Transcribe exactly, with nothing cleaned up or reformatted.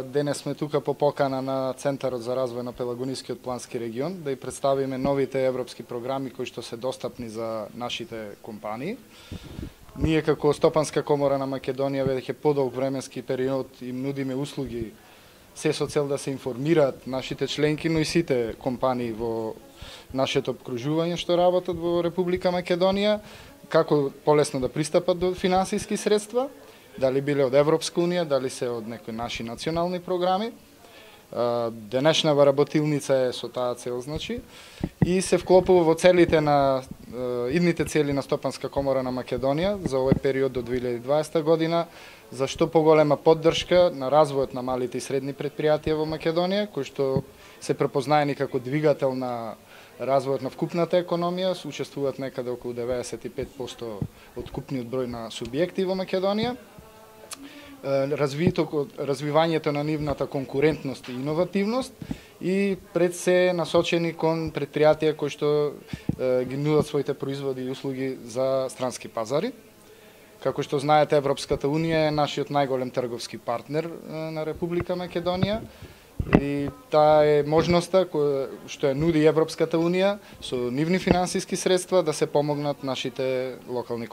Денес сме тука по покана на Центарот за развој на Пелагонискиот плански регион да и представиме новите европски програми кои што се достапни за нашите компании. Ние како Стопанска комора на Македонија веќе подолг временски период им нудиме услуги се со цел да се информираат нашите членки, но и сите компании во нашето обкружување што работат во Република Македонија, како полесно да пристапат до финансиски средства, дали биле од Европска унија, дали се од некои наши национални програми. Денешнава работилница е со таа цел, значи, и се вклопува во целите на идните цели на Стопанска комора на Македонија за овој период до две илјади и дваесета година, за што поголема поддршка на развојот на малите и средни предпријатија во Македонија, кои што се препознаени како двигател на развојот на вкупната економија, учествуваат некаде околу деветдесет и пет проценти од купниот број на субјекти во Македонија. Развивањето на нивната конкурентност и иновативност и пред се насочени кон предпријатија кои што ги нудат своите производи и услуги за странски пазари. Како што знаете, Европската унија е нашиот најголем трговски партнер на Република Македонија и таа е можноста која што ја нуди Европската унија со нивни финансиски средства да се помогнат нашите локални